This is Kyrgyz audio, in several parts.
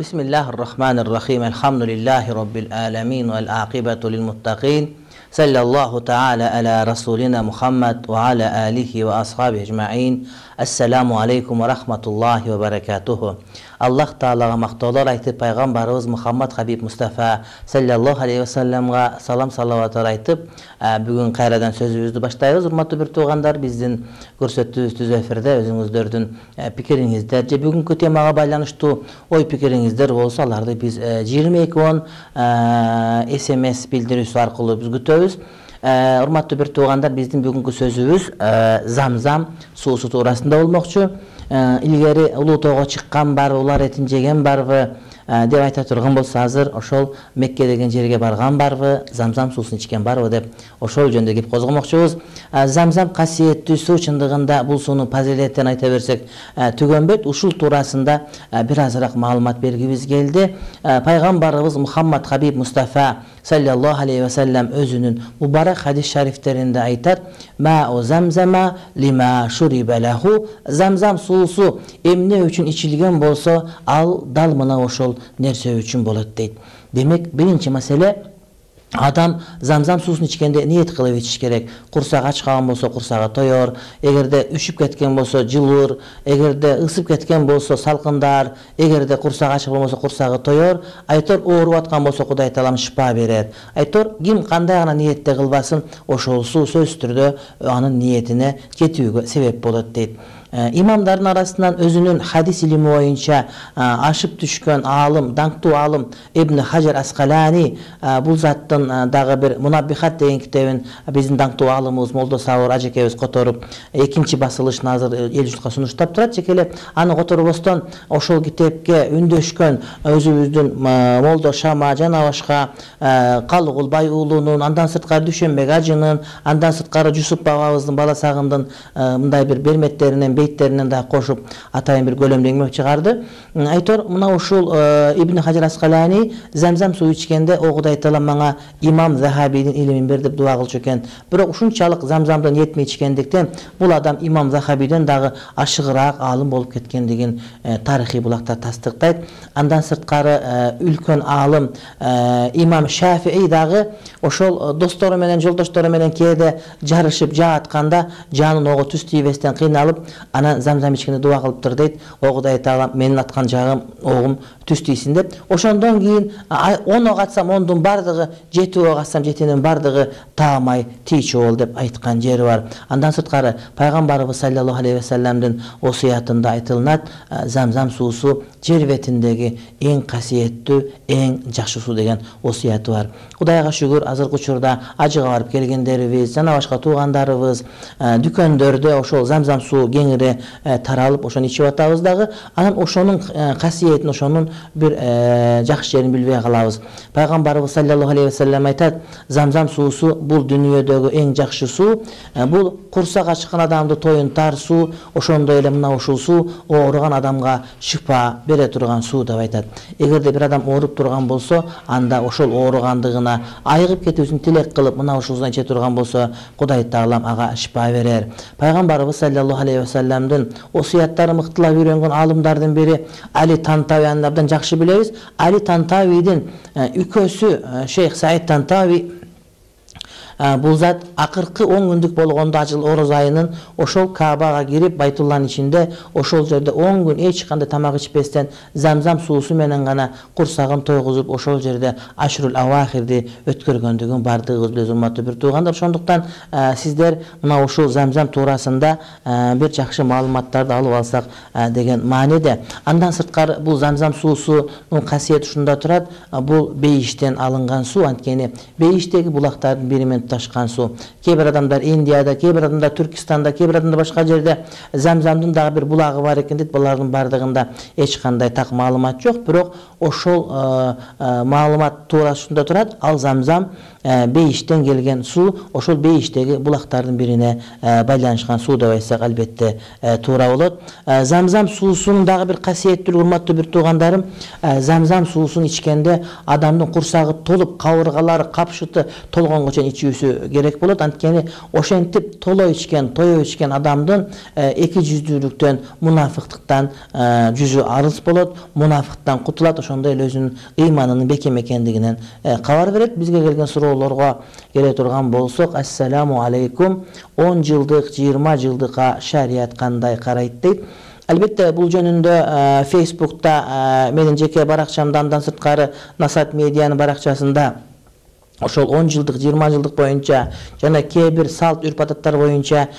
Bismillahirrahmanirrahim. Elhamdülillahi Rabbil alamin vel aqibatu lil muttaqin. Sallallahu ta'ala ala rasulina Muhammad ve ala alihi ve ashabihi ecma'in. Assalamu aleykum ve rahmatullahi ve berekatuhu. Allah Ta'alaga maqtovlar aytib, Peygamberimiz Muhammad Habib Mustafa sallallahu aleyhi ve sellem'ga salam salavatlar aytib, bugün qayradan sözübüzdü başlayabız. Urmatlı bir tuğandar, bizdin görsettiğimiz tüz efirde özüңүздөрдүn pikiringizler, je bugünkü temaga baylanıştуу oy pikiringizler bolsa alарды biz 2210 SMS bildirүүsü arkылуу biz күтөбүz. Urmatlı bir tuğandar, bizdin bugünkü sözübüz Zamzam suusu tuurasында болмокчу. İlgeri Ulutoo'ga çıkkan barбы, улар этин жеген барбы деп айта турган болсо, азыр ошол Мекке деген жерге барган барбы, Замзам суусун ичкен барбы деп ошол жөнүндө кеп козгомокчубуз. Замзам касиеттүү суу, чындыгында бул суунун фазилетин айта берсек түгөнбөйт. Ушул туурасында бир азыраак маалымат бергибиз келди. Пайгамбарыбыз Мухаммад Хабиб Мустафа sallallahu aleyhi ve sellem özünün mübarek hadis şeriflerinde aytar: "Ma'u zamzama lima şuribe lehu." Zamzam suusu emne üçün içilgen bolsa, al dal mına oşol nerse üçün bolat deyt. Demek birinci mesele, adam Zamzam suusunu içkende niyet kılıp içiş gerek. Kursağı aç kalan bolsa kursağı toyor. Egerde üşüp ketken bolsa жылыр. Egerde ısıp ketken bolsa salkındar. Egerde kursağı aç bolsa kursağı toyor. Aytor oğurup atkan bolsa Kuday Taalam şifa berer. Aytor kim kanday gana niyette kılbasın, oşol su söz türdө anın niyetine жетүүгө sebep bolat deyt. İmamların arasından özünün hadis ilimi boyunca aşıp düşkön alım, dаңктуу alım İbn Hajar Asqalani bu zattın dağı bir Munabbihat деген kitabın bizim dаңктуу alımımız Moldo Sawur ajekebиз kotorup ikinci basılışını hazır el jurtка sunуштап турат. Жекелеп аны которбостон ошол китепке үндөшкөн өзүбүздүн Молдо Шама жана башка Калыгулбай уулунун, андан сырткары Дүшөнбек ажынын, андан сырткары Жусуп бабабыздын бала сагындын мындай bir берметтеринен бейиттеринен да кошуп атайын бир көлөмдө эңмек чыгарды. Айтор, мына ушул Ибн Хаjar Asqalani Замзам суу ичкенде о Кудай Таалам мага имам Захабийдин илимин бер деп дуа кылчу экен. Бирок ушунчалык Замзамдан этмей ичкендиктен бул адам имам Захабийден дагы ашыгыраак алым болуп кеткендигин тарыхый булактар тастыктайт. Андан сырткары үлкөн алым имам Шафии дагы ошол достору менен, жолдоштору менен кээде жарышып жаатканда жанын ого түз тийбестен кыйналып, ana Zamzam içkende dua kılıptır deyt. O Kuday Taalam menin atkan jağım oğum түз тийсин деп. Ошондон кийин 10 ok atsam 10'dун бардыгы, 7 ok atsam 7'nin бардыгы таамай тийчү бол деп айткан жери бар. Андан сырткары Пайгамбарыбыз саллаллаху алейхи ва салламдын осуятында айтылынат: Замзам суусу жер бетиндеги эң касиеттүү, эң жакшы суу деген осуяты бар. Кудайга шүгүр, азыркы учурда ажыга барып келгендерибиз, жана башка туугандарыбыз дүкөндөрдө ошол Замзам суу кеңири таралып, ошону ичип атабыз дагы. Анан ошонун касиетин, ошонун bir жакшы жерин билбей калабыз. Пайгамбарыбыз саллаллаху алейхи ва саллям айтат: Замзам суусу бул дүйнөдөгү эң жакшы суу, бул курсак ачкан адамды тоюнтар суу, ошондой эле мына ушул суу ооруган адамга шифа бере турган суу деп айтат. Эгерде бир адам ооруп турган болсо, анда ошол ооругандыгына айыгып кетүүсүн тилек кылып, мына ушул суну иче турган болсо, Кудай Таалам ага шифа берер. Пайгамбарыбыз саллаллаху алейхи ва салламдын осуяттары мыктылап үйрөнгөн алымдардын бири Али Тантави, абдан жакшы билебиз. Али Тантавидин үкөсү Шейх Саид Тантави бул зат акыркы 10 күндүк болгондо ажыл ороз айынын ошол Каабага кирип, Байтулланын ичинде ошол жерде 10 күн эч кандай тамак ичпестен Замзам суусу менен гана курсагын тойгузуп, ошол жерде Ашрул Авахирди өткөргөндүгүн бардыгыбыз билебиз, урматтуу бир туугандар. Ошондуктан сиздер мына ушул Замзам туурасында бир жакшы маалыматтарды алып алсак деген мааниде. Андан сырткары бул Замзам суусунун касиети ушунда турат. Бул бейиштен алынган суу, анткени бейиштеги булактардын бири менен ташкан суу. Кээ бир адамдар Индияда, кээ бир адамдар Түркистанда, кээ бир адамдар башка жерде Замзамдын дагы бир булагы бар экен дейт. Булардын бардыгында эч кандай так маалымат жок, бирок ошол маалымат туурасында турат. Ал Замзам бейиштен келген суу, ошол бейиштеги булактардын бирине байланышкан суу деп айтсак албетте туура болот. Замзам суусунун дагы бир касиеттүүлүгү, урматтуу бир туугандарым, Замзам суусун ичкенде адамдын курсагы толуп, кабыргалары, капшыты толгонго чейин ичүү жүздүүсү керек болот. Анткени ошентип толой ичкен, тоё ичкен адамдын эки жүздүүлүктөн, мунафыктыктан жүзү арыз болот, мунафыктан кутулат, ошондой эле өзүнүн ыйманынын бекем экендигинен кабар берет. Бизге келген суроолорго келе турган болсок, ассаламу алейкум, 10 жылдык, 20 жылдыкка шарият кандай карайт дейт. Албетте бул жөнүндө Facebook'та менин жеке баракчамда, андан сырткары Насат медианын баракчасында ошол 10 жылдык, 20 жылдык боюнча жана кээ бир салт үрп-адаттар боюнча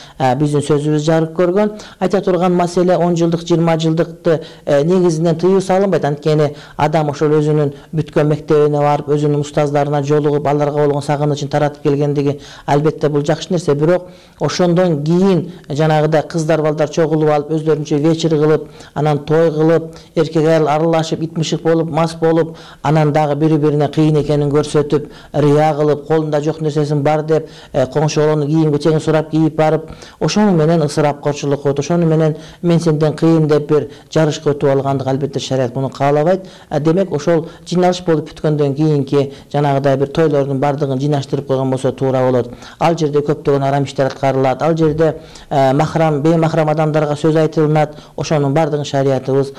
биздин сөзүбүз жарык көргөн. Айта турган маселе 10 жылдык, 20 жылдыкты негизинен тыюу салынбайт. Анткени адам ошол өзүнүн бүткөн мектебине барып, өзүнүн устаздарына жолугуп, аларга болгон сагынычын таратып келгендиги албетте бул жакшы нерсе. Бирок ошондон кийин жанагыдай кыздар, балдар чогулуп алып, өзлөрүнчө вечер кылып, анан той кылып, эркек аял аралашып, итмишик болуп, мас болуп, анан дагы бири-бирине кыйын экенин көрсөтүп, кылып, колунда жок нерсесин бар деп, коңшолонун кийим-кечегин сурап кийип барып, ошону менен ысырапкорчулук өтүп, ошону менен мен сенден кыйын деп бир жарышка өтүп алгандык албетте шарият муну каалабайт. Демек ошол жыйналыш болуп бүткөндөн кийинки жанагыдай бир тойлордун бардыгын жыйнаштырып койгон болсо туура болот. Ал жерде көптөгөн арам иштер аткарылат, ал жерде махрам, беймахрам адамдарга сөз айтылынат. Ошонун бардыгын шариятыбыз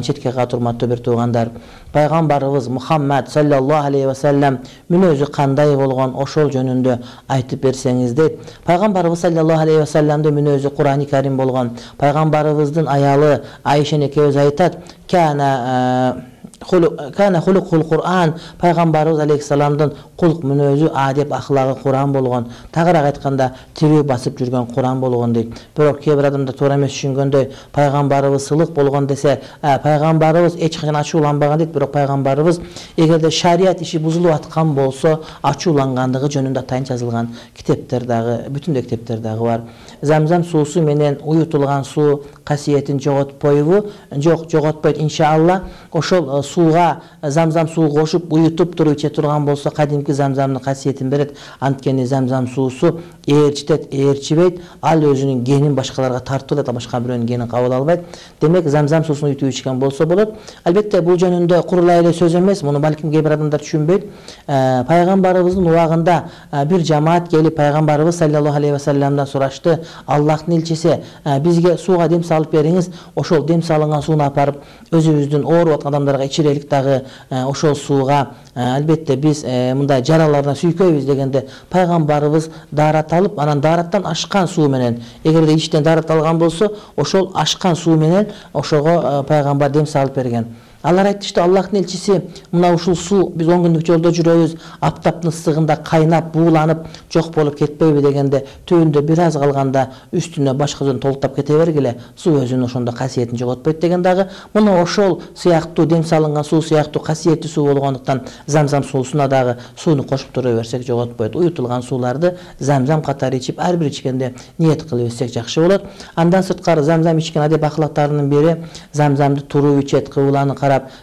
четке кагат. Урматтуу бир туугандар, пайгамбарыбыз Мухаммад саллаллаху алейхи ва саллям мүнөзү кандай болгон, ошол жөнүндө айтып берсеңиз дейт. Пайгамбарыбыз саллаллаху алейхи ва саллямдын мүнөзү Кур'ани Карим болгон. Пайгамбарыбыздын аялы Айша экөөбүз айтат: Кана хулукул Кур'ан, пайгамбарыбыз алейхиссаламдын кулк мүнөзү, адеп, ахлагы Кур'ан болгон. Тагыраак айтканда, тирүү басып жүргөн Кур'ан болгон дейт. Бирок кээ бир адамдар туура эмес түшүнгөндөй, пайгамбарыбыз сылык болгон десе, пайгамбарыбыз эч качан ачууланбаган дейт. Бирок пайгамбарыбыз эгерде шарият иши бузулуп аткан болсо, ачуулангандыгы жөнүндө атайын жазылган китептер дагы, бүтүндөй китептер дагы бар. Замзам суусу менен уютулган суу касиетин жоготпойбу? Жок, жоготпойт иншалла. Ошол сууга замзам суу кошуп уютуп туруп иче турган болсо, кадимки замзамдын касиетин берет. Анткени замзам суусу ээрчитет, ээрчибейт. Ал өзүнүн генин башкаларга тартып алат, башка бирөөнүн генин кабыл албайт. Демек замзам суусун уютуп ичкен болсо болот. Албетте бул жөнүндө курулай эле сөз эмес, муну балким кээ бир адамдар түшүнбөйт. Пайгамбарыбыздын убагында бир жамаат келип пайгамбарыбыз саллаллаху алейхи ва саллямдан сурашты: Аллахтын элчиси, бизге сууга дем салып бериңиз. Ошол дем салынган сууну апарып өзүбүздүн ооруп аткан адамдарга ичирелик дагы ошол сууга. Албетте биз мындай жаралардан сүйкөйбүз дегенде пайгамбарыбыз даарат алып, анан даараттан ашкан суу менен, эгерде иштен даарат алган болсо, ошол ашкан суу менен ошого пайгамбар дем салып берген. Алар айтышты: Аллахтын элчиси, мына ушул суу биз 10 күндүк жолдо жүрөбүз, аптаптын ысыгында кайнап, бууланып жок болуп кетпейби дегенде, түбүндө бир аз калганда үстүнө башкадан толуктап кете бергиле, суу өзүнүн ошондо касиетин жоготпойт деген дагы. Мына ошол сыяктуу дем салынган суу сыяктуу касиеттүү суу болгондуктан замзам суусуна дагы сууну кошуп тура берсек жоготпойт. Уютулган сууларды замзам катары ичип, ар бир ичкенде ниет кылып ичсек жакшы болот. Андан сырткары замзам ичкен адеп ахлактарынын бири замзамды туруп ичет, кыбланы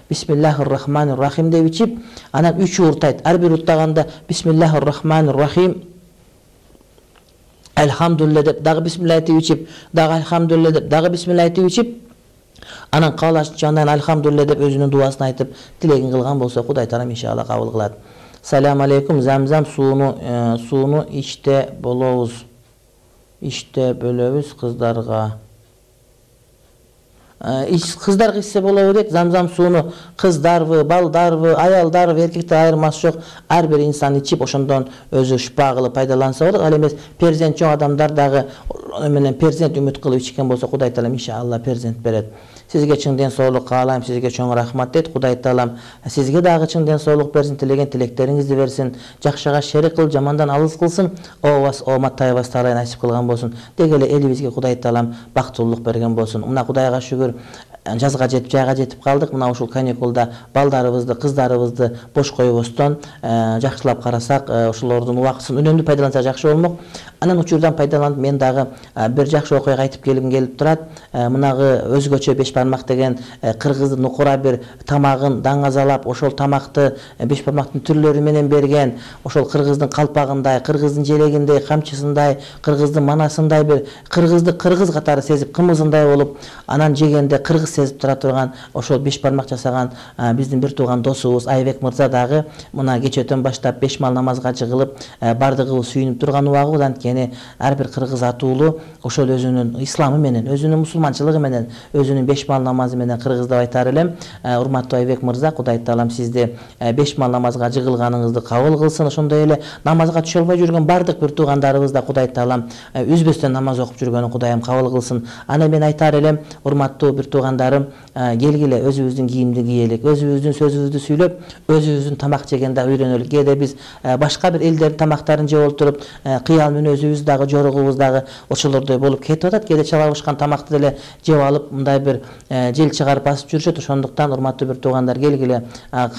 Бисмиллахир-рахманир-рахим деп ичип, анан 3 уртайт. Ар бир уртаганда Бисмиллахир-рахманир-рахим, Элхамдулилля деп, дагы бисмилlah деп ичип, дагы Элхамдулилля деп, дагы бисмилlah деп ичип, анан каалашчы андан Элхамдулилля деп өзүнүн дуасын айтып, тилегин кылган болсо, Кудай Таалам иншалла кабыл кылат. Салам алейкум, замзам сууну ичте болобуз. Ичте бөлөбүз кыздарга. Кыздарга ичсе болобу дейт. Замзам сууну кыздарбы, балдарбы, аялдарбы, эркектер айырмасы жок. Ар бир инсан ичип, ошондон өзү шифа кылып пайдаланса болот. Ал эмес перзент жок адамдар дагы менен перзент үмүт кылып ичкен болсо, Кудай Таалам иншалла перзент берет. Сизге чың ден соолук каалайм, сизге чоң рахмат дейт. Кудай Таалам сизге дагы чың ден соолук берсин, тилеген тилектериңизди берсин, жакшыга шерик кылып, жамандан алыс кылсын, ообас ооматтайбас таалай насип кылган болсун. Деги эле элибизге Кудай Таалам бактылуулук берген болсун. Мына Кудайга шүгүр, жазга жетип, жайга жетип калдык. Мына ушул каникулда балдарыбызды, кыздарыбызды бош койбостон жакшылап карасак, ошолордун убактысын үнөмдүү пайдалансак жакшы болмок. Анан учурдан пайдаланып мен дагы бир жакшы окуяга айтып келгим келип турат. Мынагы өзгөчө беш бармак деген кыргыздын нукура бир тамагын даңазалап, ошол тамакты беш бармактын түрлөрү менен берген, ошол кыргыздын калпагындай, кыргыздын желегиндей, камчысындай, кыргыздын манасындай бир кыргызды кыргыз катары сезип, кымызындай болуп, анан жегенде кыргыз сезип тура турган ошол 5 бармак жасаган биздин бир тууган досубуз Айбек мырза дагы мына кечөөтөн баштап 5 мал намазга жыгылып бардыгыбыз сүйүнүп турган убагыбыз. Анткени ар бир кыргыз атуулу ошол өзүнүн исламы менен, өзүнүн мусулманчылыгы менен, өзүнүн 5 мал намазы менен кыргыз деп айтар элем. Урматтуу Айбек мырза, Кудай таалам сизди 5 мал намазга жыгылганыңызды кабыл кылсын. Ошондой эле намазга түшө албай жүргөн бардык бир туугандарыбыз да Кудай таалам үзбөстөн намаз окуп жүргөнүн Кудайым кабыл кылсын. Аны мен айтар элем, урматтуу бир туугандарым, келгиле өзүбүздүн кийимди кийелик, өзүбүздүн сөзүбүздү сүйлөп, өзүбүздүн тамак жегенде үйрөнөлүк. Кээде биз башка бир элдердин тамактарын жеп отуруп, кыял мүнөзүбүз дагы, жоругубуз дагы ошолордой болуп кетип атат. Кээде чала бышкан тамакты деле жеп алып, мындай бир жел чыгарып басып жүрүшөт. Ошондуктан урматтуу бир туугандар, келгиле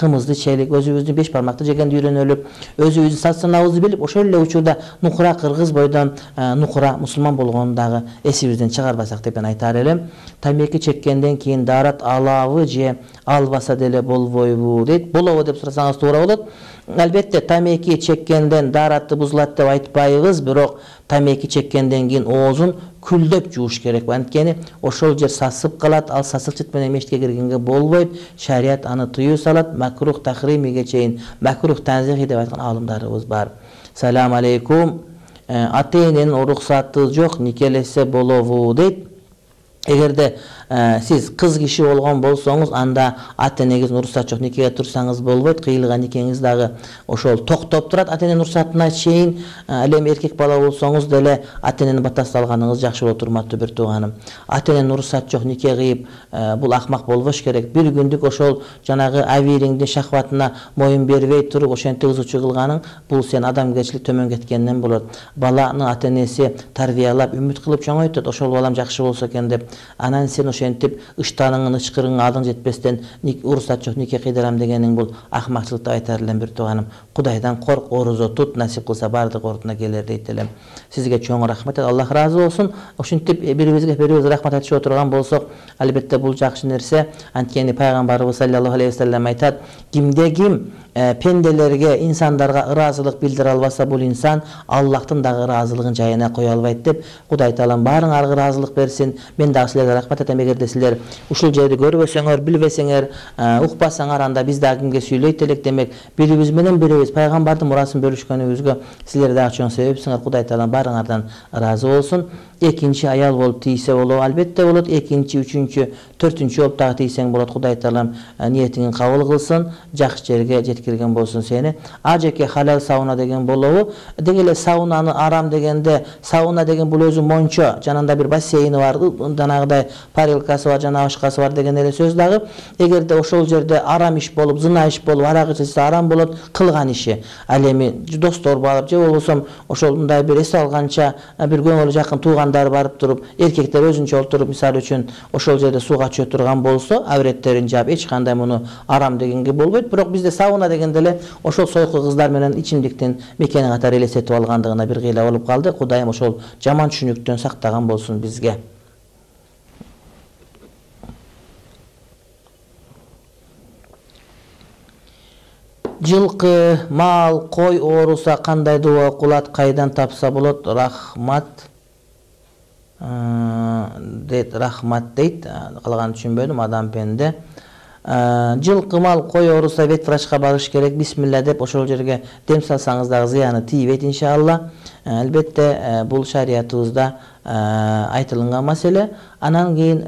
кымызды ичелик, өзүбүздүн 5 бармакты жегенди үйрөнөлүк, өзүбүздүн сат-санабызды билип, ошол эле учурда нукура кыргыз бойдон нукура мусулман болгонун дагы эсибизден чыгарбасак деп мен айтар элем. Тамеки чеккенден кийин даарат алабы же албаса деле болбойбу дейт. Болобу деп сурасаңыз туура болот. Албетте тамеки чеккенден даараты бузулат деп айтпайбыз, бирок тамеки чеккенден кийин оозун күлдөп жууш керек. Анткени ошол жер сасып калат, ал сасыкчыт менен мешитке киргенге болбойт. Шарият аны тыюу салат, макрух тахримиге чейин, макрух танзихи деп айткан алымдарыбыз бар. Салам алейкум. Ата-эненин уруксаты жок, никелесе болобу дейт. Эгерде сиз кыз киши болгон болсоңуз, анда ата-энеңиздин уруксаты жок, никеге турсаңыз болбойт. Кыйылган никеңиз дагы ошол токтоп турат ата-эненин уруксатына чейин. Ал эми эркек бала болсоңуз деле ата-эненин батасы алганыңыз жакшы болот, урматтуу бир тууганым. Ата-эненин уруксаты жок, нике кыйып, бул акмак болбош керек. Бир күндүк ошол жанагы абийириңдин шахватына моюн бербей туруп, ошентип ызычуу кылганың, бул сен адамгерчилик төмөн кеткенден болот. Баланы ата-энеси тарбиялап, үмүт кылып чоңойтот, ошол балам жакшы болсо экен деп. Анан сен ошентип ыштаныңын, ычкырыңга адың жетпестен уруксат жок, нике кыйдырам дегениң бул акмакчылык деп айтар элем бир тууганым. Кудайдан корк, орозо тут, насип кылса бардык ордуна келер дейт элем. Сизге чоң рахмат, Аллах ыраазы болсун. Ошентип бирибизге бирибиз рахмат айтышып отурган болсок, албетте бул жакшы нерсе. Анткени пайгамбарыбыз саллаллаху алейхи ва саллям айтат, кимде ким пенделерге, инсандарга ыраазылык билдире албаса, бул инсан Аллахтын дагы ыраазылыгын жайына кое албайт деп. Кудай таалам баарыңарга ыраазылык берсин. Мен дагы силерге рахмат айтам. Эгерде силер ушул жерди көрбөсөңөр, билбесеңер, укпасаңар, анда биз дагы кимге сүйлөйт элек. Демек, бирибиз менен бирибиз пайгамбардын мурасын бөлүшкөнүбүзгө силер дагы чоң себепсиңер. Кудай таалам баарыңардан ыраазы болсун. Экинчи аял болуп тийсе болобу? Албетте болот. Экинчи, үчүнчү, төртүнчү болуп дагы тийсең болот. Кудай таалам ниетиңи кабыл кылсын, жакшы жерге жеткирген болсун сени. Ажеке халал сауна деген болобу? Деги эле саунаны арам дегенде, сауна деген бул өзү мончо, жанында бир бассейни бар, жанагыдай парилкасы бар, жана башкасы бар деген эле сөз дагы. Эгерде ошол жерде арам иш болуп, зына иш болуп, арак ичилсе арам болот, кылган иши. Ал эми достор барып, же болбосо ошол мындай бир эс алганча бир көңүлү жакын тууган барып туруп, эркектер өзүнчө олтуруп, мисалы үчүн ошол жерде сууга чөө турган болсо, авреттерин жаап, эч кандай муну арам дегенге болбойт. Бирок бизде сауна дегенде эле ошол сойку кыздар менен ичимдиктин мекени катары элестетип алгандыгына бир кыйла болуп калды. Кудайым ошол жаман түшүнүктөн сактаган болсун бизге. Жылкы, мал, кой ооруса кандай дуа окулат, кайдан тапса болот? Рахмат дейт, рахмат дейт. Калганын түшүнбөдүм, адам пенде. Жылкы, мал, кой ооруса вет врачка барыш керек. Бисмилла деп ошол жерге дем салсаңыз дагы зыяны тийбейт иншалла. Албетте бул шариятыбызда айтылган маселе. Анан кийин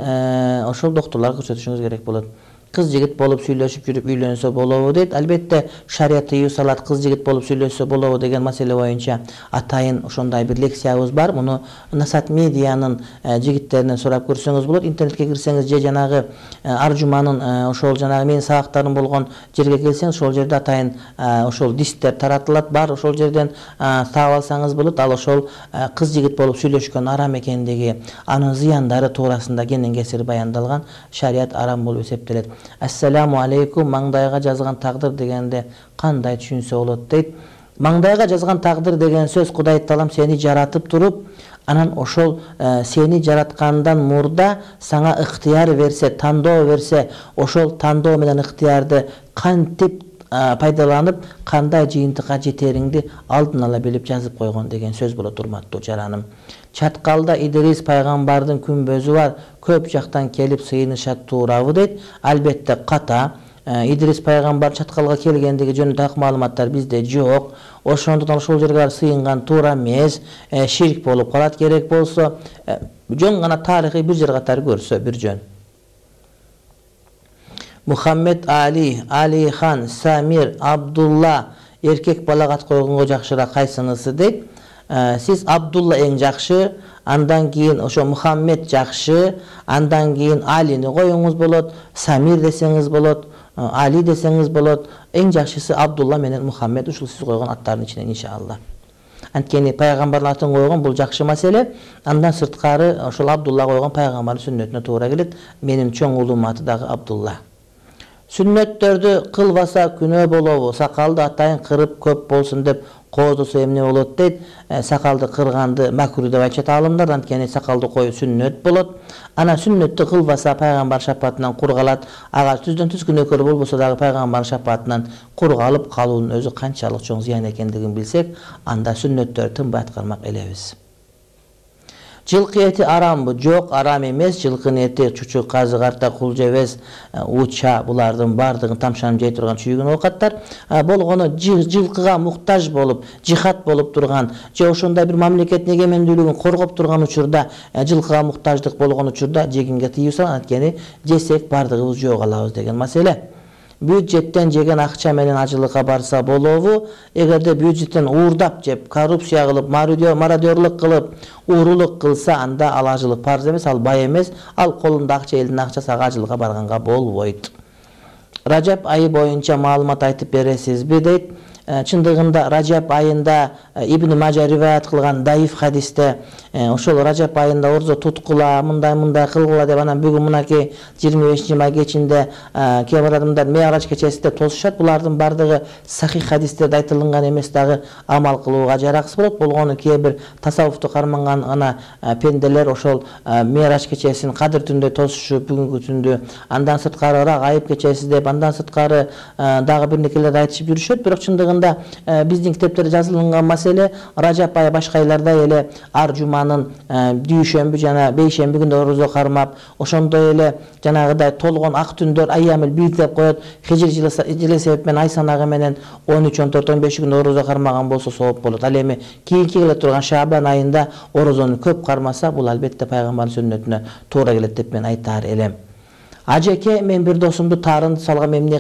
ошол доктурларга көрсөтүшүңүз керек болот. Кыз жигит болуп сүйлөшүп жүрүп үйлөнсө болобу дейт. Албетте шарият тыюу салат, кыз жигит болуп сүйлөшсө болобу деген маселе боюнча атайын ошондой бир лекциябыз бар. Муну Насат медианын жигиттеринен сурап көрсөңүз болот. Интернетке кирсеңиз же жанагы Аржуманын ошол жанагы менин сабактарым болгон жерге келсеңиз, ошол жерде атайын ошол дисктер таратылат бар. Ошол жерден таап алсаңыз болот. Ал ошол кыз жигит болуп сүйлөшкөн арам экендиги, анын зыяндары туурасында кенен кесир баяндалган. Шарият арам болуп эсептелет. Ассаламу алейкум, маңдайга жазган тагдыр дегенде кандай түшүнсө болот дейт. Маңдайга жазган тагдыр деген сөз, Кудай таалам сени жаратып туруп, анан ошол сени жараткандан мурда сага ыктыяр берсе, тандоо берсе, ошол тандоо менен ыктыярды кантип пайдаланып кандай жыйынтыкка жетериңди алдын ала билип жазып койгон деген сөз болот урматтуу жараным. Чаткалда Идрис пайгамбардын күмбөзү бар, көп жактан келип сыйынышат туурабы дейт. Албетте ката. Идрис пайгамбар чаткалга келгендиги жөнүндө так маалыматтар бизде жок. Ошондуктан ошол жерге сыйынган туура эмес, ширк болуп калат. Керек болсо жөн гана тарыхый бир жер катары көрсө бир жөн. Мухаммед Али, Алихан, Самир, Абдулла эркек балага ат койгонго жакшыраак кайсынысы дейт. Сиз Абдулла эң жакшы, андан кийин ошо Мухаммед жакшы, андан кийин Алини коюңуз болот, Самир десеңиз болот, Али десеңиз болот. Эң жакшысы Абдулла менен Мухаммед, ушул сиз койгон аттардын ичинен иншалла. Анткени пайгамбардын атын койгон бул жакшы маселе. Андан сырткары ошол Абдулла койгон пайгамбардын сүннөтүнө туура келет. Менин чоң уулум аты дагы Абдулла. Сүннөттөрдү кылбаса күнөө болобу? Сакалды атайын кырып көп болсун деп коодосо эмне болот дейт. Сакалды кырганды макруh деп айтышат аалымдар, анткени сакалды коюу сүннөт болот. Ана сүннөттү кылбаса пайгамбар шапаатынан кур калат. Ага түздөн түз күнөөкөр болбосо дагы пайгамбар шапаатынан кур калып калуунун өзү канчалык чоң зыян экендигин билсек, анда сүннөттөр тынбай аткармак элебиз. Жылкы эти арамбы? Жок, арам эмес. Жылкынын эти чучук, казы, карта, кулжебес, уча булардын бардыгын тамшанып жей турган чүйгүн оокаттар. Болгону жылкыга муктаж болуп, жихад болуп турган, же ошондой бир мамлекеттин эгемендүүлүгүн коргоп турган учурда, жылкыга муктаждык болгон учурда жегимге тыюу салат. Анткени жесек бардыгыбыз жөө калабыз деген маселе. Бюджеттен жеген акча менен ажылыкка барса болобу? Эгерде бюджеттен уурдап жеп, коррупция кылып, мародёрлук кылып, уурулук кылса, анда ал ажылык парз эмес, ал бай эмес, ал колунда акча, элдин акчасы, ага ажылыкка барганга болбойт. Ражап айы боюнча маалымат айтып бересизби дейт. Чындыгында Ражап айында Ибн Мажа риваят кылган даиф хадисте ошол Ражап айында орзо туткула, мындай кылгыла деп анан бүгүн мынакей 25-май кечинде кээ бир адамдар Ме'раж кечесинде тосушат. Булардын бардыгы сахих хадистерде айтылган эмес, дагы амал кылууга жараксыз болот. Болгону кээ бир тасаввуфту карманган ана пенделер ошол Ме'раж кечесин кадыр түндө тосушуп, бүгүнкү түндү, андан сырткары Рагайып кечеси деп, андан сырткары дагы бир некелерди айтышып жүрүшөт. Бирок чындыгында биздин китептерде жазылган маселе Ражап айы башка айлардай эле ар жуманын дүйшөмбү жана бейшемби күндө орозо кармап, ошондой эле жанагыдай толгон ак түндөр айямыл бийт деп коет. Хижир жылы себеп менен ай санагы менен 13, 14, 15 күн орозо кармаган болсо сооп болот. Ал эми кийинки келе турган Шабан айында орозону көп кармаса, бул албетте пайгамбардын сүннөтүнө туура келет деп мен айтаар элем. Ажеке, мен бир досумду таарынды салгам, эмне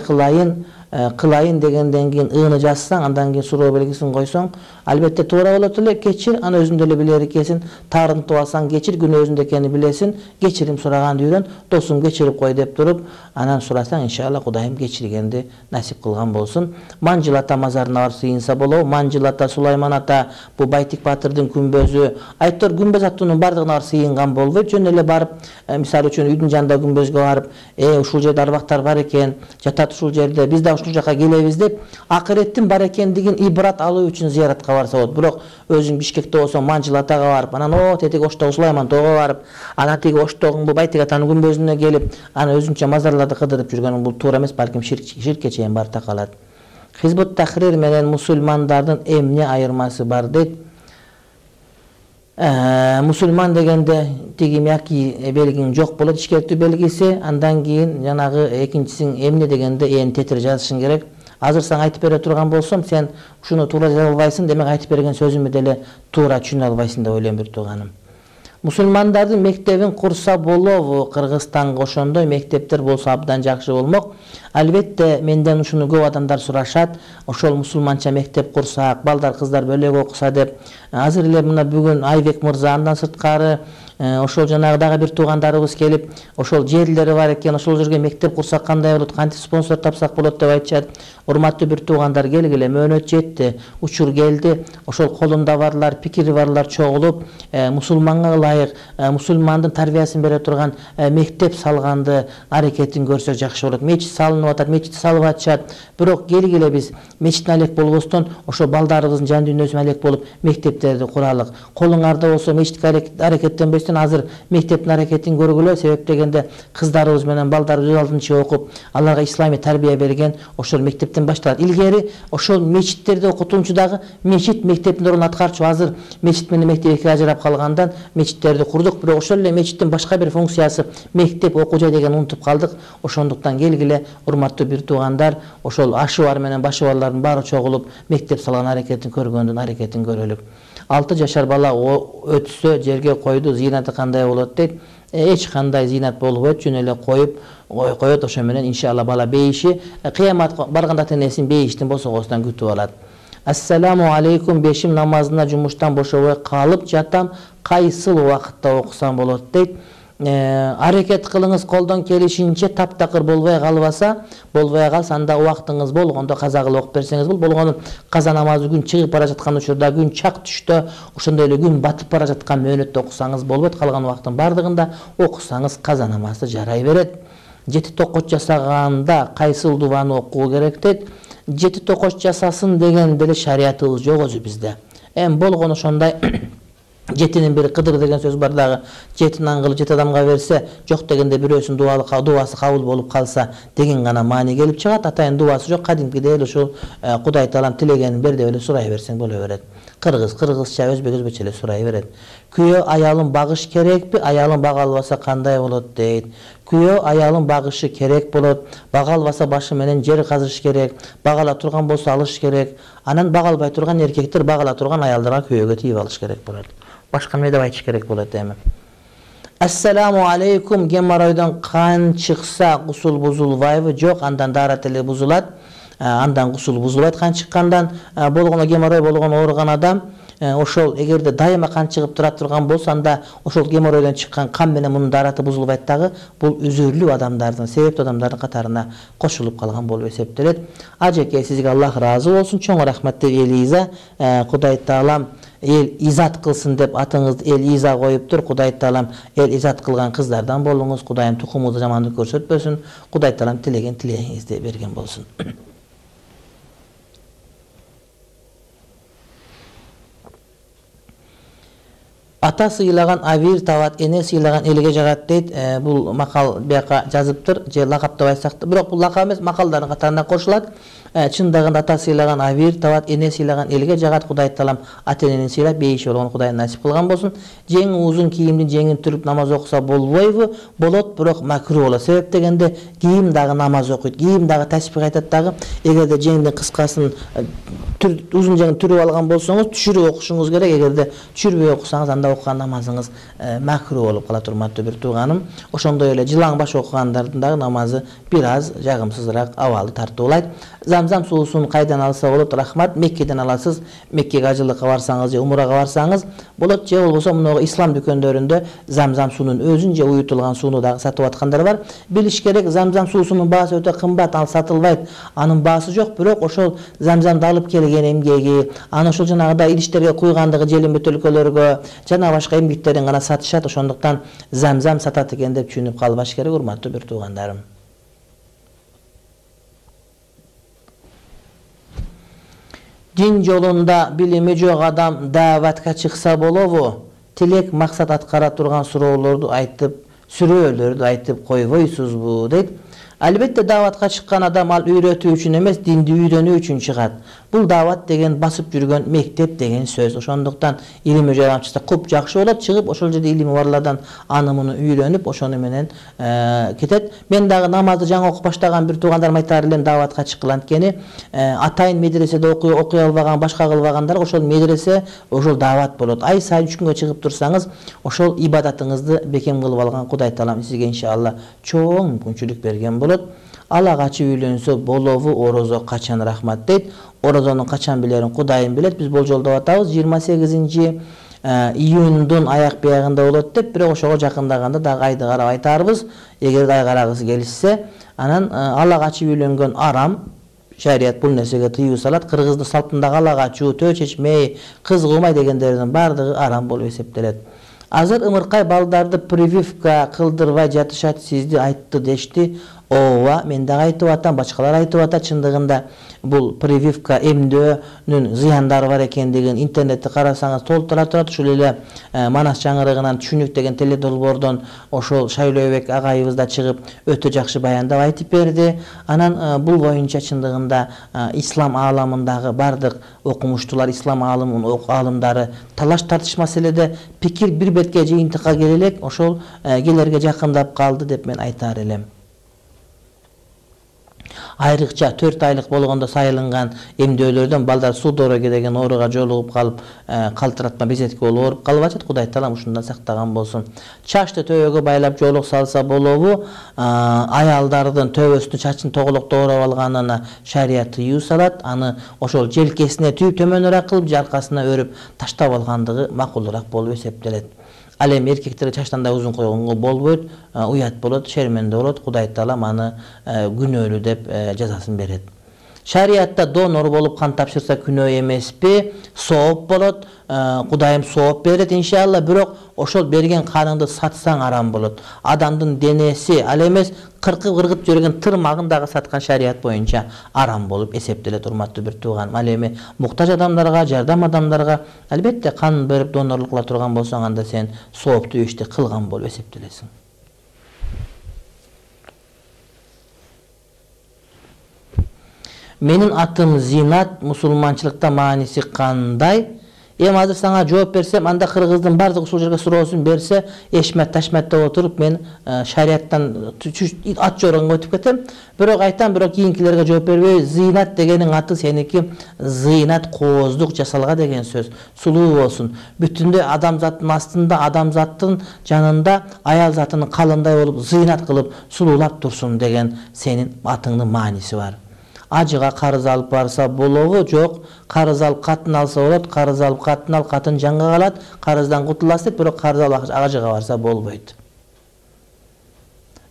кылайын дегенден кийин ыны жазсаң, андан кийин суроо белгисин койсоң, албетте туура болот эле. Кечир, аны өзүндө эле билери экенсиң. Таарынтып алсаң, кечир, күнөө өзүндө экенин билесиң. Кечирим сураганды үйрөн, досум кечирип кой деп туруп, анан сурасаң, иншалла Кудайым кечиргенди насип кылган болсун. Манжыл ата мазарына барып сыйынса болобу? Манжыл ата, Сулайман ата, бу Байтик Батырдын күмбөзү, айттыр күмбөз аттуунун бардыгына барып сыйынган болбойт. Жөн эле барып, мисалы үчүн үйдүн жанында күмбөзгө барып, ушул жерде арбактар бар экен, жатат ушул жерде, биз да ушул жака келебиз деп, акыреттин бар экендигин ибрат алуу үчүн зыяратка барса болот. Бирок өзүң Бишкекте болсоң, Манжыл атага барып, анан тетиги Оштогу Сулайман тоого барып, анан тиги Оштогун бу Байтик атанын күмбөзүнө келип, анан өзүнчө мазарларды кыдырып жүргөн бул туура эмес, балким ширкке чейин бар такалат. Хизбут Тахрир менен мусулмандардын эмне айырмасы бар дейт. Мусулман дегенде тиги мияки белгиң жок болот, ишкертүү белгиси. Андан кийин жанагы экинчисин эмне дегенде ээн тетир жазышың керек. Азыр сага айтып бере турган болсом, сен ушуну туура жаза албайсың, демек айтып берген сөзүмдү деле туура түшүнө албайсың деп ойлойм, бир тууганым. Мусулмандардын мектебин курса болобу? Кыргызстанга ошондой мектептер болсо абдан жакшы болмок. Албетте менден ушуну көп адамдар сурашат. Ошол мусулманча мектеп курсак, балдар кыздар бөлөк окуса деп. Азыр эле мына бүгүн Айбек мырза, андан сырткары ошол жанагы дагы бир туугандарыбыз келип, ошол жерлери бар экен, ошол жерге мектеп курсак кандай болот, кантип спонсор тапсак болот деп айтышат. Урматтуу бир туугандар, келгиле, мөөнөт жетти, учур келди. Ошол колунда барлар, пикири барлар чогулуп, мусулманга ылайык, мусулмандын тарбиясын бере турган мектеп салганды аракетин көрсөк жакшы болот. Мечит салынып атат, мечитти салып атышат. Бирок келгиле биз мечиттин алек болбостон, ошо балдарыбыздын жан дүйнөсүнө алек болуп мектептерди куралык. Колуңарда болсо мечитке аракеттенбей элестен азыр мектептин аракетин көргүлө. Себеп дегенде кыздарыбыз менен балдарыбыз алдынча окуп, аларга исламий тарбия берген, ошол мектептен башталат. Илгери ошол мечиттерде окутуучу дагы мечит мектептин ордун аткарчу. Азыр мечит менен мектеп эки ажырап калгандан мечиттерди курдук, бирок ошол эле мечиттин башка бир функциясы мектеп, окуу жай деген унутуп калдык. Ошондуктан келгиле, урматтуу бир туугандар, ошол ашы бар менен башы барлардын баары чогулуп мектеп салган аракетин көргөндүн аракетин көрөлүк. 6 жашар бала өтсө жерге койду, зыйнаты кандай болот дейт. Эч кандай зыйнат болбойт, жөн эле коет, ошо менен иншалла бала бейиши кыяматка барганда ата-энесин бейиштин босогосунан күтүп алат. Ассаламу алейкум, бешим намазына жумуштан бошобой калып жатам, кайсыл убакытта окусам болот дейт. Аракет кылыңыз колдон келишинче таптакыр болбой калса анда убактыңыз болгондо каза кылып окуп берсеңиз болгону каза намазы күн чыгып бара жаткан учурда, күн чак түштө, ошондой эле күн батып бара жаткан мөөнөттө окусаңыз болбойт. Калган убактын бардыгында окусаңыз каза намазы жарай берет. 7 токоч жасаганда кайсыл дубаны окуу керек дейт. 7 токоч жасасын деген деле шариятыбыз жок өзү бизде. Эми болгону ошондой 7-нин бири кыдыр деген сөз бар дагы. 7 аңгылы 7 адамга берсе, жок дегенде бирөөсүнүн дубасы кабыл болуп калса деген гана маани келип чыгат. Атайын дубасы жок, кадимкидей эле ушул Кудай Таалам тилегенин бер деп эле сурай берсең боло берет. Кыргызча, өзбекче эле сурай берет. Күйөө аялын багыш керекпи? Аялын бага албаса кандай болот дейт. Күйөө аялын багышы керек болот. Бага албаса башы менен жер казыш керек. Багала турган болсо алыш керек. Анан бага албай турган эркектер багала турган аялдарга күйөөгө тийип алыш керек болот. Башка эмне деп айтыш керек болот эми? Ассаламу алейкум, геморройдон кан чыкса гусул бузулбайбы? Жок, андан даарат эле бузулат. Андан гусул бузулбайт кан чыккандан. Болгону геморрой болгон ооруган адам ошол эгерде дайыма кан чыгып турган болсо, анда ошол геморройдон чыккан кан менен мунун даараты бузулбайт дагы. Бул үзүрлүү адамдардын, себептүү адамдардын катарына кошулуп калган болуп эсептелет. Ажеке, сизге Аллах ыраазы болсун. Чоң рахмат деп Элиза, Кудай Таалам эл изат кылсын деп атыңызды эл иза коюптур. Кудай Таалам эл изат кылган кыздардан болуңуз. Кудайым тукумуңузду жамандык көрсөтпөсүн. Кудай Таалам тилеген тилегиңизди берген болсун. Ата сыйлаган авир табат, эне сыйлаган элге жагат дейт. Бул макал бияка жазыптыр, же лакап деп айтсак да, бирок бул лакап эмес, макалдардын катарына кошулат. Чындыгында ата сыйлаган авир табат, эне сыйлаган элге жагат. Кудай Таалам ата-энени сыйлап бейиши болгон Кудай насип кылган болсун. Жеңи узун кийимдин жеңин түрүп намаз окуса болбойбу? Болот, бирок макруh болот. Себеп дегенде кийим дагы намаз окуйт, кийим дагы тасбих айтат дагы. Эгерде жеңдин кыскасын узун жеңин түрүп алган болсоңуз, түшүрүп окушуңуз керек. Эгерде түшүрбөй окусаңыз, анда окуган намазыңыз макруh болуп калат, урматтуу бир тууганым. Ошондой эле жылаң баш окугандардын дагы намазы бир аз жагымсызыраак, абалы тартуулайт. Замзам суусун кайдан алса болот? Рахмат, Меккеден аласыз. Меккеге ажылыкка барсаңыз же умрага барсаңыз болот, же болбосо мына ислам дүкөндөрүндө замзам суунун өзүн же уютулган сууну дагы сатып аткандар бар. Билиш керек, замзам суусунун баасы өтө кымбат, ал сатылбайт. Анын баасы жок, бирок ошол замзамды алып келген эмгеги, аны ошол жанагыдай идиштерге куйгандыгы, желим бөтөлкөлөргө жана башка эмгектерин гана сатышат. Ошондуктан замзам сатат экен деп түшүнүп калбаш керек, урматтуу бир туугандарым. Дин жолунда билими жок адам дааватка чыкса болобу? Тилек максат аткара турган сүрөөлөрдү айтып койбойсузбу дейт. Албетте дааватка чыккан адам ал үйрөтүү үчүн эмес, динди үйрөнүү үчүн чыгат. Бул даават деген басып жүргөн мектеп деген сөз. Ошондуктан илими жок чыкса көп жакшы болот. Чыгып ошол жерде илими барлардан аны муну үйрөнүп, ошону менен кетет. Мен дагы намазды жаңы окуп баштаган бир туугандарым айтар элем, дааватка чыккан анткени атайын медреседе окуй албаган, башка кылбагандар ошол медресе, ошол даават болот. Ай сайын 3 күнгө чыгып турсаңыз, ошол ибадатыңызды бекем кылып алган Кудай Таалам сизге иншалла чоң мүмкүнчүлүк берген болот. Ала качып үйлөнсө болобу? Орозо качан? Рахмат дейт. Орозонун качан билерин Кудайым билет. Биз болжолдоп атабыз 28 июндун аяк биягында болот деп, бирок ошого жакындаганда дагы айды карап айтарбыз. Эгерде ай карагысы келишсе, анан ала качып үйлөнгөн арам. Шарият бул нерсеге тыюу салат. Кыргыздын салтындагы ала качуу, төө чечмей, кыз кылмай дегендердин бардыгы арам болуп эсептелет. Азыр ымыркай балдарды прививка кылдырбай жатышат, сизди айтты дешти. ооба мен дагы айтып атам, башкалар айтып атат, чындыгында бул прививка эмдөөнүн зыяндары бар экендигин интернетте карасаңыз толтура турат. Ушул эле Манас жаңырыгынан Түшүнүк деген теледолбоордон ошол Шайлообек агайыбыз да чыгып өтө жакшы баяндап айтып берди. Анан бул боюнча чындыгында ислам ааламындагы бардык окумуштуулар, ислам аалымдары талаш тартыш маселеде пикир бир бетке жыйынтыкка келе элек, ошол келерге жакындап калды деп мен айтар элем. Айрыкча 4 айлык болгондо сайылынган эмдөөлөрдөн балдар суу дороги деген ооруга жолугуп калып, калтыратма безетке болуп ооруп калып атат. Кудай таалам ушундан сактаган болсун. Чачты төбөгө байлап жолук салса болобу? Аялдардын төбөсүнө чачын тоголокто оорап алганына шарият тыюу салат. Аны ошол желкесине түйүп төмөнүрөөк кылып, жаркасына өрүп таштап алгандыгы макулураак болуп эсептелет. Ал эми эркектерге чачтан да узун койгонго болбойт, уят болот, шерменде болот. Кудай таалам аны күнөөлүү деп жазасын берет. Шариятта донор болуп кан тапшырса күнөө эмеспи? Сооп болот. Кудайым сооп берет иншалла, бирок ошол берген каныңды сатсаң арам болот. Адамдын денеси, ал эмес кыргып жүргөн тырмагын дагы саткан шарият боюнча арам болуп эсептелет, урматтуу бир тууганым. Ал эми муктаж адамдарга, жардам адамдарга албетте кан берип донорлук кыла турган болсоң, анда сен сооптуу ишти кылган болуп эсептелесиң. Менин атым Зинат, мусулманчылыкта мааниси кандай? Эми азыр сага жооп берсем, анда кыргыздын бардык ушул жерге суроосун берсе, эшмет ташметтеп отуруп мен шариаттан ат жорогонго өтүп кетем. Бирок айтам, бирок кийинкилерге жооп бербей, Зинат дегениң аты сеники зыйнат, кооздук жасалга деген сөз. Сулуу болсун. Бүтүндө адамзаттын астында, адамзаттын жанында аял затынын калындай болуп, зыйнат кылып сулуулап турсун деген сенин атыңдын мааниси бар. Ажыга карыз алып барса болобу? Жок. Карыз алып катын алса болот. Карыз алып катын ал, катын жанга калат. Карыздан кутуласыз деп, бирок карыз алып ажыга барса болбойт.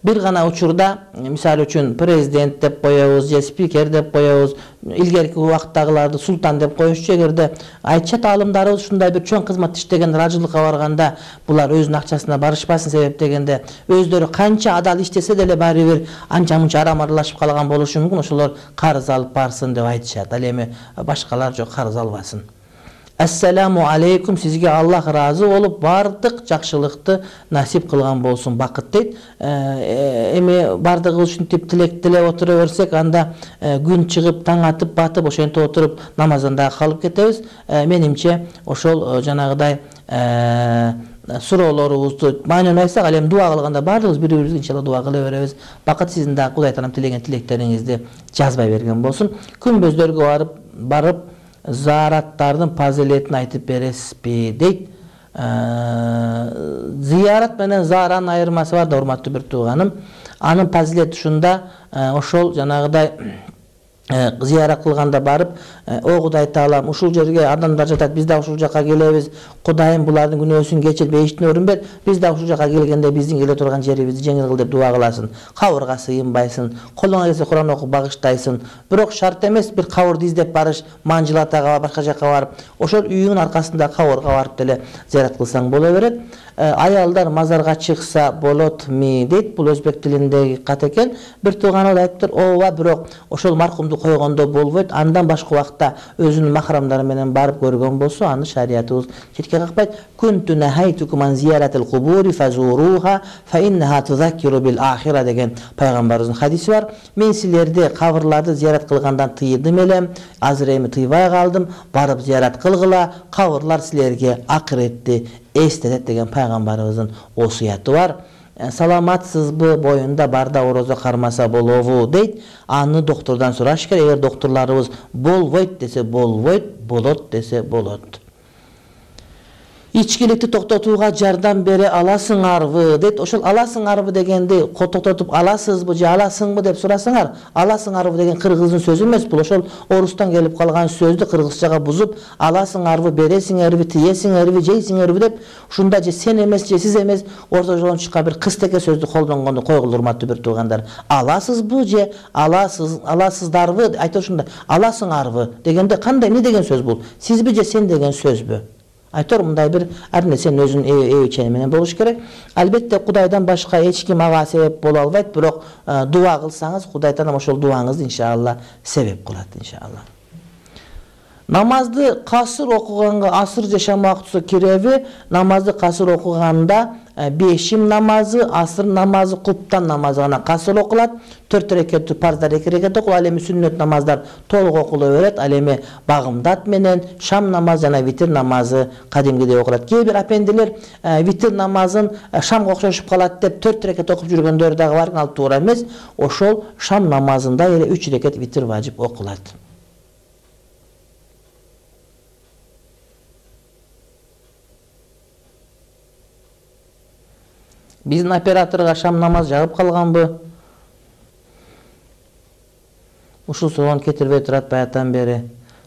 Бир гана учурда, мисалы үчүн президент деп коебуз, же спикер деп коебуз, илгерки убакыттагыларды султан деп коюшчу. Эгерде айтчат аалымдарыбыз ушундай бир чоң кызмат иштеген ражылыкка барганда, булар өзүнүн акчасына барышпасын себептегенде, өздөрү канча адал иштесе деле баары бир анча-мунча арам аралашып калган болушу мүмкүн. Ошолор карыз алып барсын деп айтышат. Ал эми башкалар жок, карыз албасын. Ассаламу алейкум, сизге Аллах разы болуп бардык жакшылыкты насип кылган болсун, бакыт дейт. Эми бардыгыбыз ушинтип тилек тилеп отура берсек, анда күн чыгып, таң атып, батып, ошентип отуруп намаздан дагы калып кетебиз. Менимче ошол жанагыдай суроолорубузду маанилүү айтсак, ал эми дуа кылганда бардыгыбыз бири-бирибизге иншалла дуа кыла беребиз. Бакыт сиздин дагы Кудай таалам тилеген тилектериңизди жазбай берген болсун. Күнбөздөргө барып заараттардын фазилетин айтып бересизби дейт. Зыярат менен зааранын айырмасы бар да, урматтуу бир тууганым. Анын фазилети ушунда, ошол жанагыдай зыярат кылганда барып, о Кудай таалам, ушул жерге адамдар жатат, биз да ушул жакка келебиз. Кудайым булардын күнөөсүн кечир, бейиштин өрүн бер. Биз да ушул жакка келгенде биздин келе турган жерибизди жеңил кыл деп дуа кыласың. Кабырга сыйынбайсың, колуңа келсе Куран окуп багыштайсың. Бирок шарт эмес бир кабырды издеп барыш, Манжылатага, башка жакка барып, ошол үйүңүн аркасында кабырга барып деле зыярат кылсаң боло берет. Аялдар мазарга чыкса болот ми дейт. Бул өзбек тилиндеги кат экен. Бир тууганыбыз айтыптыр, ооба, бирок ошол маркумду койгондо болбойт. Андан башка убакта өзүнүн махрамдары менен барып көргөн болсо, аны шариятыбыз четке какпайт. Кунту нахайтукум ан зияратил кубури фазуруха фа иннаха тузаккиру бил ахира деген пайгамбарыбыздын хадиси бар. Мен силерди кабырларды зиярат кылгандан тыйдым элем. Азыр эми тыйбай калдым. Барып зиярат кылгыла. Кабырлар силерге акыретти эстетет деген пайгамбарыбыздын осуяты бар. Саламатсызбы, боюнда барда орозо кармаса болобу дейт. Аны доктордон сураш керек. Эгер докторлорубуз болбойт десе болбойт, болот десе болот. Ичкиликти токтотууга жардам бере аласыңарбы дейт. Ошол аласыңарбы дегенди токтотуп аласызбы же аласыңбы деп сурасаңар, аласыңарбы деген кыргыздын сөзү эмес, бул ошол орустан келип калган сөздү кыргызчага бузуп, аласыңарбы, бересиңерби, тиесиңерби, жейсиңерби деп, ушунда же сен эмес, же сиз эмес, орто жолдон чыккан бир кыстеке сөздү колдонгондо койгула, урматтуу бир туугандар. Аласызбы же аласыздарбы, айта ушундай, аласыңарбы дегенде кандай, эмне деген сөз бул? Сизби же сен деген сөзбү? Айтор мындай бир ар нерсенин өзүнүн эбичени менен болуш керек. Албетте Кудайдан башка эч ким ага себеп боло албайт, бирок дуа кылсаңыз Кудай Таалам ошол дуаңызды иншалла себеп кылат иншалла. Намазды касыр окуганга асыр жашамакчысы киреби? Намазды касыр окуганда бешим намазы, асыр намазы, куптан намазы гана касыр окулат. 4 рекет парздар 2 рекет окулат. Ал эми сүннөт намаздар толук окула берет. Ал эми багымдат менен шам намазы жана витир намазы кадимгидей окулат. Кээ бир апендилер витир намазын шамга окшошуп калат деп 4 рекет окуп жүргөндөр дагы бар, ал туура эмес. Ошол шам намазында эле 3 рекет витир важип окулат. Биздин операторга шам намаз жагып калганбы? Ушул суроон кетирбей турат баятан бери.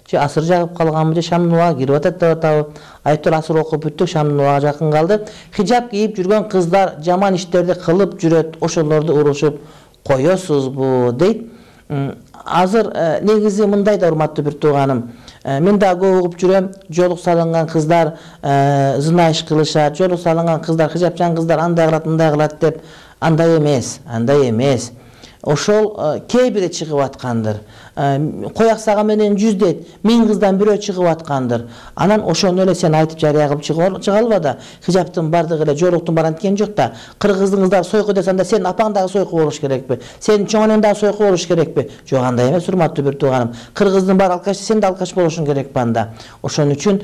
Же асыр жагып калганбы, же шамдын убагы кирип атат деп атабы? Айтор асыр окуп бүттүк, шамдын убагы жакын калды. Хижаб кийип жүргөн кыздар жаман иштерди кылып жүрөт, ошолорду урушуп коесузбу дейт. Азыр негизи мындай да, урматтуу бир тууганым. Мен да көп угуп жүрөм, жолук салынган кыздар зына иш кылышат, жолук салынган кыздар, хижапчан кыздар андай кылат, мындай кылат деп. Андай эмес. Ошол кээ бири чыгып аткандыр. Кояк сага менен 100 дейт, 1000 кыздан бирөө чыгып аткандыр. Анан ошону эле сен айтып жарыя кылып чыга алба да. Хижаптын бардыгы эле, жоруктун бар анткени жок да. Кыргыздын кыздары сойку десем да, сен апаң дагы сойку болуш керекпи? Сен чоң анең дагы сойку болуш керекпи? Жок, андай эмес, урматтуу бир тууганым. Кыргыздын бар алкаш, сен да алкаш болушуң керек анда. Ошон үчүн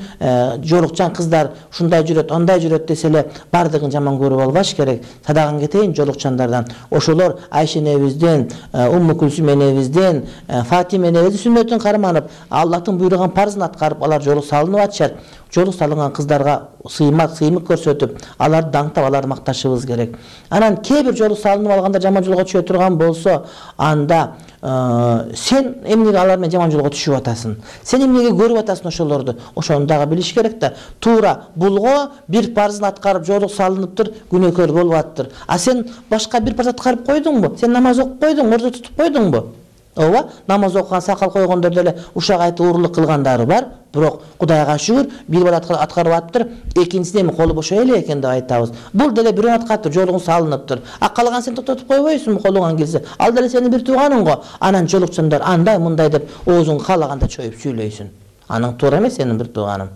жорукчан кыздар ушундай жүрөт, андай жүрөт десе эле бардыгын жаман көрүп албаш керек. Садаган кетейин жолукчандардан. Ошолор Айша энебизден, Умму Кулсум энебизден, Фатима энебиздин сүннөтүн карманып, Аллахтын буйруган парзын аткарып, алар жолук салынып атышат. Жолук салынган кыздарга сыймык көрсөтүп, аларды даңктап, аларды макташыбыз керек. Анан кээ бир жолук салынып алганда жаман жолго түшө турган болсо, анда сен эмнеге алар менен жаман жолго түшүп атасың? Сен эмнеге көрүп атасың ошолорду? Ошону дагы билиш керек да. Туура булго бир парзын аткарып жолук салыныптыр, күнөөкөр болуп аттыр. А сен башка бир парз аткарып койдуңбу? Сен намаз окуп койдуңбу? Ордо тутуп койдуңбу? Ооба, намаз окуган, сакал койгондор деле ушак айтып уурулук кылгандары бар. Бирок Кудайга шүгүр, бир бала аткарып аттыр, экинчисине эми колу бошой эле экен деп айтабыз. Бул деле бирөө аткарыптыр, жолугун салыныптыр. А калган сен токтотуп койбойсуңбу колуңан келсе? Ал деле сенин бир тууганың го. Анан жолукчандар андай мындай деп оозуң каалаганда чоюп сүйлөйсүң. Аның туура эмес, сенин бир тууганың.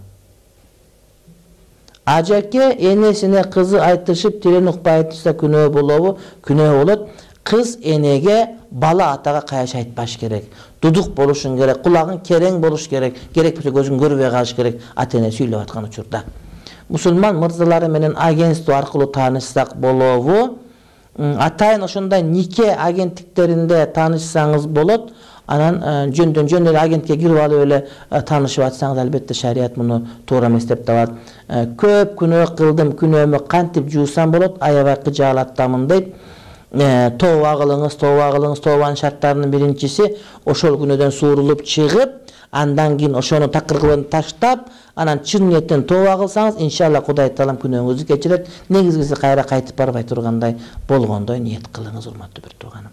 Ажаке энесине кызы айтышып, тилин укпай айтса күнөө болобу? Күнөө болот. Кыз энеге бала атага каяш айтпаш керек. Дудук болушун керек, кулагың керең болуш керек, керек болсо көзүң көрбөй калыш керек ата эне сүйлөп аткан учурда. Мусулман мырзалары менен агентство аркылуу таанышсак болобу? Атайын ошондой нике агенттиктеринде таанышсаңыз болот. Анан жөндөн жөн эле агентке кирип алып эле таанышып атсаңыз, албетте шарият муну туура эмес деп табат. Көп күнөө кылдым, күнөөмө кантип жуусам болот? Аябай кыжаалаттамын дейт. Тооба кылыңыз, тообанын шарттарынын биринчиси ошол күнөөдөн суурулуп чыгып, андан кийин ошону такыр таштап, анан чын ниеттен тооба кылсаңыз, иншалла Кудай Таалам күнөөңүздү кечирет. Негизгиси кайра кайтып барбай тургандай болгондой ниет кылыңыз, урматтуу бир тууганым.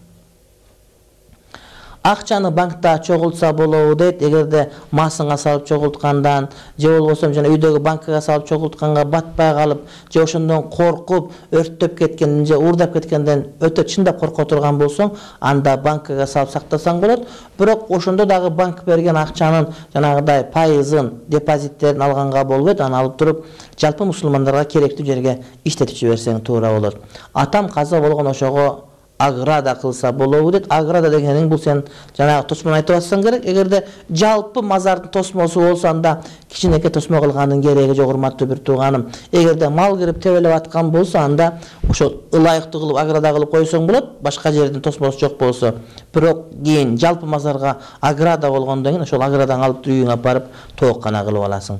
Акчаны банкта чогултса болобу дейт. Эгерде масыңа салып чогулткандан, же болбосо жана үйдөгү банкага салып чогултканга батпай калып, же ошондон коркуп, өрттөп кеткенден, же уурдап кеткенден өтө чындап корко турган болсоң, анда банкага салып сактасаң болот. Бирок ошондо дагы банк берген акчанын жанагыдай пайызын, депозиттерин алганга болбойт. Аны алып туруп, жалпы мусулмандарга керектүү жерге иштетип жиберсең туура болот. Атам каза болгон ошого аграда кылса болобу дейт. Аграда дегениң бул сен жанагы тосмону айтып атсаң керек. Эгерде жалпы мазардын тосмосу болсо, анда кичинекей тосмо кылгандын кереги жок, урматтуу бир тууганым. Эгерде мал кирип тебелеп аткан болсо, анда ошол ылайыктуу кылып аграда кылып койсоң болот, башка жердин тосмосу жок болсо. Бирок кийин жалпы мазарга аграда болгондон кийин ошол аградан алып үйүңө барып тооккана кылып аласың.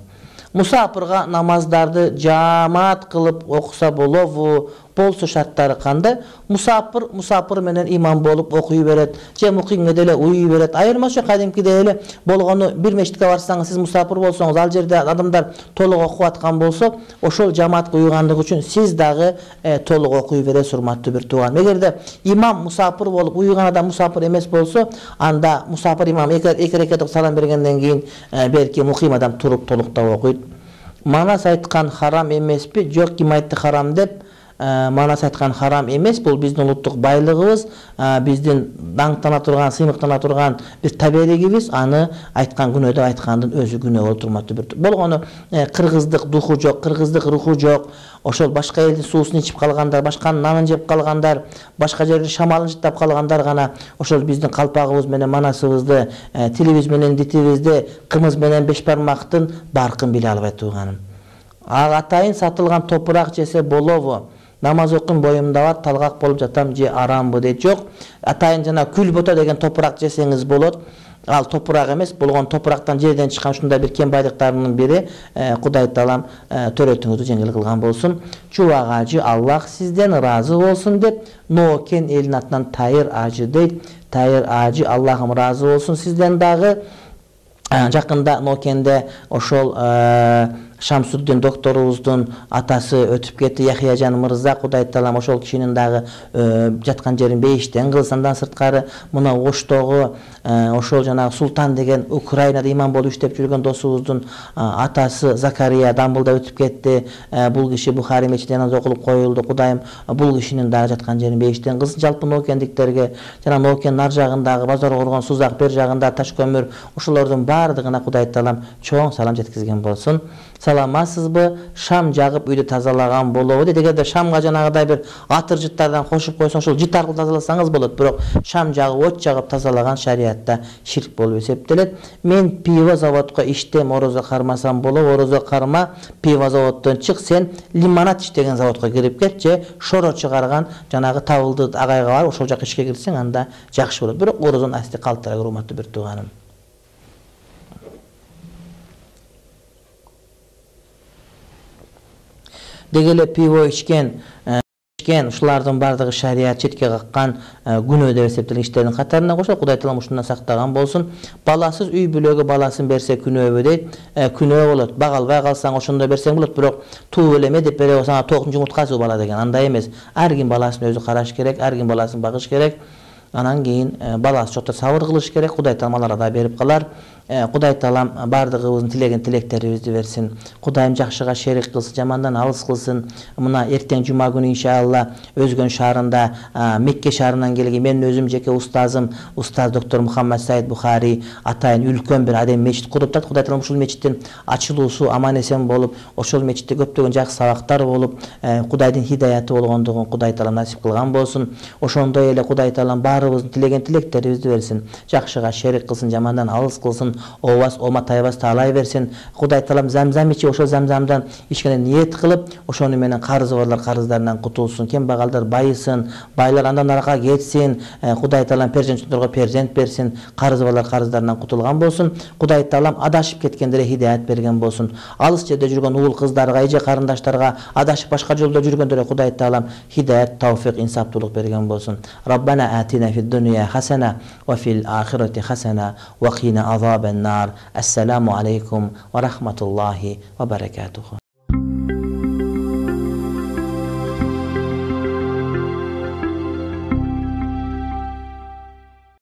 Мусапырга намаздарды жамаат кылып окуса болобу? Болсо шарттары кандай? Мусапыр менен имам болуп окуй берет, же мукимге деле уюй берет. Айырмасы кадимкидей эле болгону бир мечитке барсаңыз, сиз мусапыр болсоңуз, ал жерде адамдар толук окуп аткан болсо, ошол жамаатка уйгандыгы үчүн сиз дагы толук окуй бересиз, урматтуу бир тууган. Эгерде имам мусапыр болуп уйган адам мусапыр эмес болсо, анда мусапыр имам эки рекет салам бергенден кийин белки муким адам туруп толуктап окуйт. манас айткан харам эмеспи? Жок, ким айтты харам деп? Манас айткан харам эмес, бул биздин улуттук байлыгыбыз, биздин даңктана турган, сыймыктана турган бир табелигибиз. Аны айткан күнөө деп айткандын өзү күнөө болуп турмактуу бир. Болгону кыргыздык духу жок, кыргыздык руху жок. Ошол башка элдин суусун ичип калгандар, башканын нанын жеп калгандар, башка жерде шамалын жыттап калгандар гана ошол биздин калпагыбыз менен манасыбызды, тилибиз менен дитибизди, кымыз менен беш бармактын баркын биле албайт тууганым. Атайын сатылган топурак жесе болобу? Намаз окуйм, боюмда бар, талгак болуп жатам же арамбы дейт. Жок, атайын жана күлбота деген топурак жесеңиз болот. Ал топурак эмес, болгон топурактан жерден чыккан ушундай бир кем байлыктарынын бири. Кудай таалам төрөтүңүздү жеңил кылган болсун. Чубак ажы Аллах сизден ыраазы болсун деп Нокен элинин атынан Тайыр ажы дейт. Тайыр ажы Аллахым ыраазы болсун сизден дагы. Жакында Нокенде ошол Шамсуддин докторубуздун атасы өтүп кетти, Яхияжан мырза. Кудай таалам ошол кишинин дагы жаткан жерин бейиштен кылсын. Андан сырткары мына Оштогу ошол жанагы Султан деген Украинада имам болуп иштеп жүргөн досубуздун атасы Закария Дамбылда өтүп кетти. Бул киши Бухари мечитинде намаз окулуп коюлду. Кудайым бул кишинин дагы жаткан жерин бейиштен кылсын. Жалпы Нокендиктерге, жана Нокенин ар жагындагы базар коргон Сузак, бер жагында Ташкөмүр, ошолордун баардыгына Кудай таалам чоң салам жеткизген болсун. Саламатсызбы? Шам жагып үйдү тазалаган болобу дейт. Эгерде шамга жанагыдай бир атыр жыттардан кошуп койсоң, ошол жыт аркылуу тазаласаңыз болот. Бирок шам жагып, от жагып тазалаган шариятта ширк болуп эсептелет. Мен пиво заводко иштем, орозо кармасам болобу? Орозо карма, пиво заводдон чык, сен лимонад иштеген заводко кирип кет же шоро чыгарган жанагы табылды агайга бар, ошол жака ишке кирсең анда жакшы болот. Бирок орозону асти калтыра, урматтуу бир тууганым. Дегеле пиво ичкен ушулардын бардыгы шарият четке каккан күнөө деп эсептелген иштердин катарына кошот. Кудай таалам ушундан сактаган болсун. Баласыз үй бүлөгө баласын берсе күнөөбү дейт. Күнөө болот. Бага албай калсаң ошондо берсең болот, бирок тууп элеме деп бере болсаң токтун жумурткасы бала деген андай эмес. Ар ким баласын өзү караш керек, ар ким баласын багыш керек. Анан кийин баласы жокто сабыр кылыш керек. Кудай таалам аларга да берип калар. Кудай таалам бардыгыбыздын тилеген тилектерибизди берсин. Кудайым жакшыга шерик кылсын, жамандан алыс кылсын. Мына эртең жума күнү иншалла Өзгөн шаарында, Мекке шаарынан келген менин өзүм жеке устазым, устаз доктор Мухаммад Саид Бухари атайын үлкөн бир адем мечит куруптат. Кудай таалам ушул мечиттин ачылуусу аман эсен болуп, ошол мечитте көптөгөн жакшы сабактар болуп, Кудайдын хидаяты болгондугун Кудай таалам насип кылган болсун. Ошондой эле Кудай таалам баарыбыздын тилеген тилектерибизди берсин. Жакшыга шерик кылсын, жамандан алыс кылсын. Обас, ома тайбас таалай берсин. Кудай таалам замзам ичи, ошол замзамдан ичкенде ниет кылып, ошону менен карызы барлар карыздарынан кутулсун, кембагалдар байысын, байлар андан аракка кетсин. Кудай таалам перзентчилерге перзент берсин, карызы барлар карыздарынан кутулган болсун. Кудай таалам адашып кеткендерге хидаят берген болсун. Алыс жерде жүргөн уул кыздарга, эже карындаштарга адашып башка жолдо жүргөндөргө Кудай таалам хидаят, тавфик, инсаптуулук берген болсун. Раббана атина фид дунья хасана ва фил ахирати хасана ва қина азабан нар. Ассаламу алейкум ва рахматуллахи ва баракатуху.